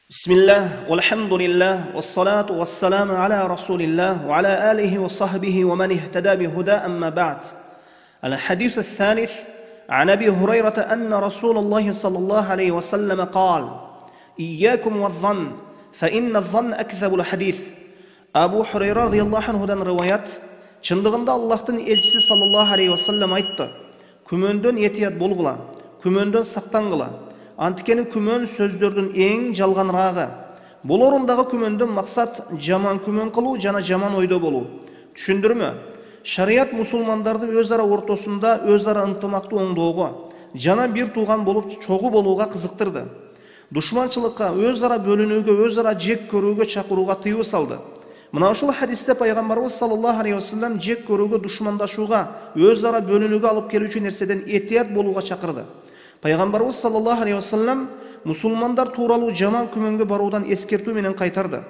Bismillah, walhamdulillah, wassalatu wassalamu ala rasulillah, wa ala alihi wa sahbihi wa man ihtada bihuda amma ba'd. الحديث الثالث عن أبي هريرة أن رسول الله صلى الله عليه وسلم قال: إياكم والظن فإن الظن أكذب الحديث. Abu Hurayra radıyallahu anhudan rivayet, çındığında Allah'ın elçisi sallallahu aleyhi ve sellem aytты: Күмөндөн етият болгула, күмөндөн сактангыла. Анткени күмөн сөздөрдүн эң жалганрагы. Бул орундагы күмөндөн максат жаман күмөн кылуу жана жаман ойдо болуу. Түшүндүрмө? Шарият мусулмандарды өз ара ортосунда өз ара ынтымактуу оңдоого жана бир тууган болуп чогуу болууга кызыктырды. Душманчылыкка, өз ара бөлүнүүгө, өз ара жек көрүүгө чакырууга тыюу салды. Мына ушул хадисте пайгамбарыбыз саллаллаху алейхи вассалам жек көрүүгө, душмандашууга, өз ара бөлүнүүгө алып келүүчү нерседен этият болууга чакырды. Пайгамбарыбыз саллаллаху алейхи вассалам мусулмандар тууралуу жаман күмөнгө баруудан эскертүү менен кайтарды.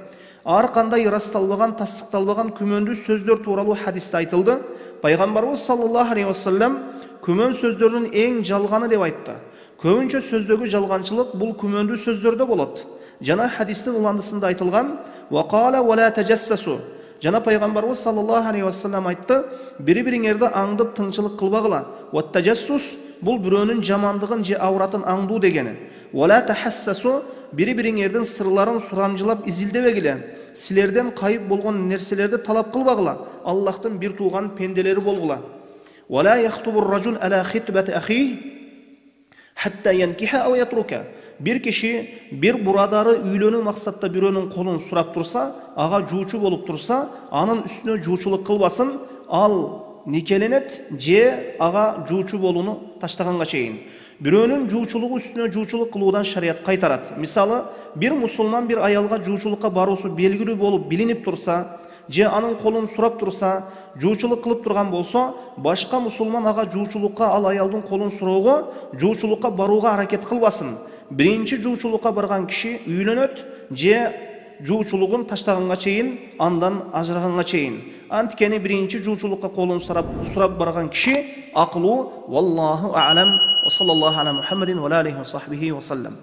Ар кандай ырасталбаган, тастыкталбаган күмөндүү сөздөр тууралуу хадисте айтылды. Пайгамбарыбыз саллаллаху алейхи вассалам күмөн сөздөрдүн эң жалганы деп айтты. Көбүнчө сөздөгү жалганчылык бул күмөндүү сөздөрдө болот. Жана хадистин уландысында айтылган: "Ва кала ва ла таджассасу". Жана пайгамбарыбыз саллаллаху алейхи вассалам айтты: "Бири-бириңерди аңдып тыңчылык кылбагыла. Ва таджассус бул бирөөнүн жамандыгын же авратын аңдуу дегени. Ва ла тахассасу бири-бириңердин сырларын сурамжылап изилдебегиле. Силерден кайып болгон нерселерди талап кылбагыла. Аллахтын бир тууган пенделери болгула. Ва ла яхтубур ражул ала хитбати ахи хатта янкиха ау ятрука". Бир киши бир бурадары үйлөнүү максатта бирөөнүн колун сурап турса, ага жуучу болуп турса, анын үстүнө жуучулук кылбасын, ал никеленет же ага жуучу болууну таштаганга чейин. Бирөөнүн жуучулугу үстүнө жуучулук кылуудан шарият кайтарат. Мисалы, бир мусулман бир аялга жуучулукка баруусу белгилүү болуп билинип турса, же анын колун сурап турса, жуучулук кылып турган болсо, башка мусулман ага жуучулукка, ал аялдын колун суроого, жуучулукка барууга аракет кылбасын. Биринчи жуучулукка барган киши үйлөнөт же жуучулугун таштаганга чейин, андан ажыраганга чейин. Анткени биринчи жуучулукка колун сурап барган киши акылуу. Валлаху а'лам. Ва саллаллаху ала Мухаммадин ва алейхи ва сахбихи ва саллам.